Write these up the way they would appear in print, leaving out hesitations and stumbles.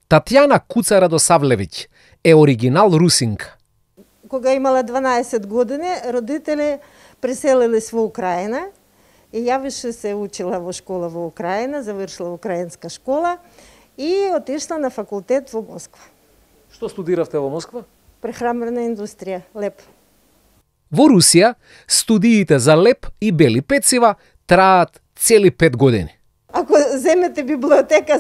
Татјана Куца Радосавлевиќ е оригинал русинка. Кога имала 12 години, родители преселились во Украина и ја више се учила во школа во Украина, завршила украинска школа и отишла на факултет во Москва. Што студиравте во Москва? Прехрамбена индустрија, леп. Во Русија, студиите за леп и бели пецива траат цели 5 години. Ако земете библиотека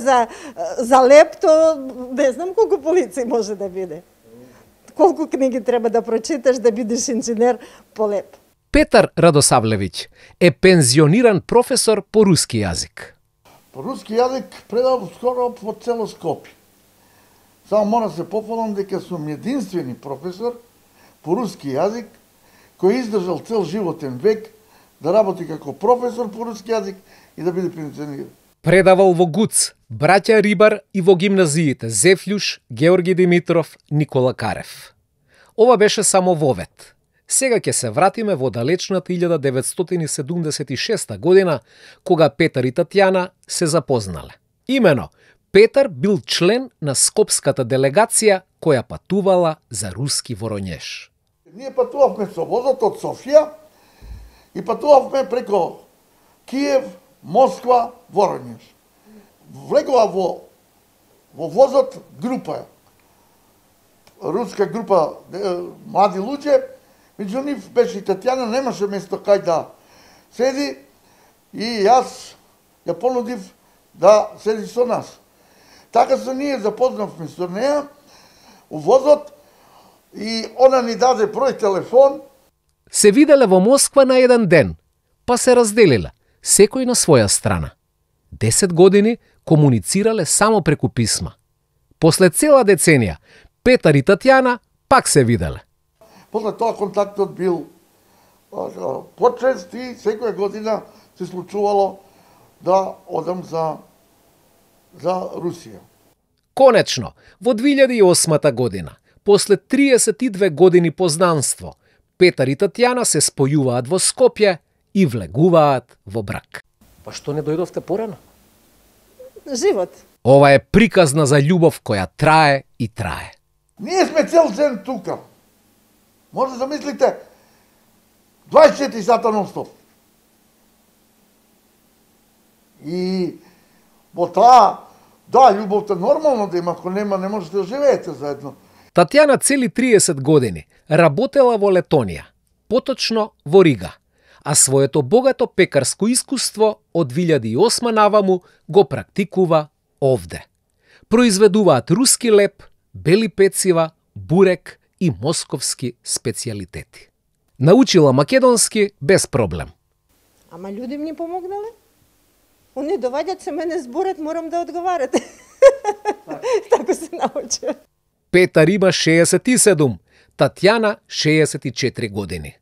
за леп, то не знам колку полици може да биде. Колку книги треба да прочиташ да бидеш инженер по леп. Петар Радосавлевиќ е пензиониран професор по руски јазик. По руски јазик предав скоро по цело Скопје. Само мора се пофалам дека сум единствени професор по руски јазик кој издржал цел животен век да работи како професор по руски јазик и да биде пензиониран. Предавал во ГУЦ, браќа Рибар и во гимназиите Зефљуш, Георги Димитров, Никола Карев. Ова беше само вовед. Сега ќе се вратиме во далечната 1976 година, кога Петар и Татјана се запознале. Имено, Петар бил член на скопската делегација која патувала за руски Воронеж. Ние патувавме со возот од Софија и патувавме преко Киев, Москва, Воронеж. Влегува во возот група, руска група млади луѓе, меѓу нив беше и Татјана, немаше место кај да седи и јас ја понудив да седи со нас. Така се ние запознавме со неја у возот и она ни даде број телефон. Се виделе во Москва на еден ден, па се разделиле, секој на своја страна. 10 години комуницирале само преку писма. После цела деценија, Петар и Татјана пак се виделе. После тоа контактот бил почест и секоја година се случувало да одам за Русија. Конечно, во 2008 година, после 32 години познанство, Петар и Татјана се спојуваат во Скопје и влегуваат во брак. Па што не дојдовте порано? Живот. Ова е приказна за љубов која трае и трае. Ние сме цел ден тука. Може да замислите 24 сата нон-стоп. И во таа, да, љубовта нормално да има, ако нема, не можете да живеете заедно. Татјана цели 30 години работела во Летонија, поточно во Рига, а своето богато пекарско искуство од 2008 наваму го практикува овде. Произведуваат руски леп, бели пецива, бурек и московски специјалитети. Научила македонски без проблем. Ама луѓе ми помогнале. Они доваѓаат се мене зборат, морам да одговарате. Така се научила. Петар има 67, Татјана 64 години.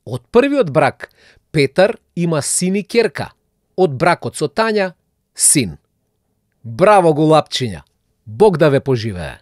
Од првиот брак, Петар има син и ќерка. Од бракот со Тања, син. Браво, голапчиња! Бог да ве поживее!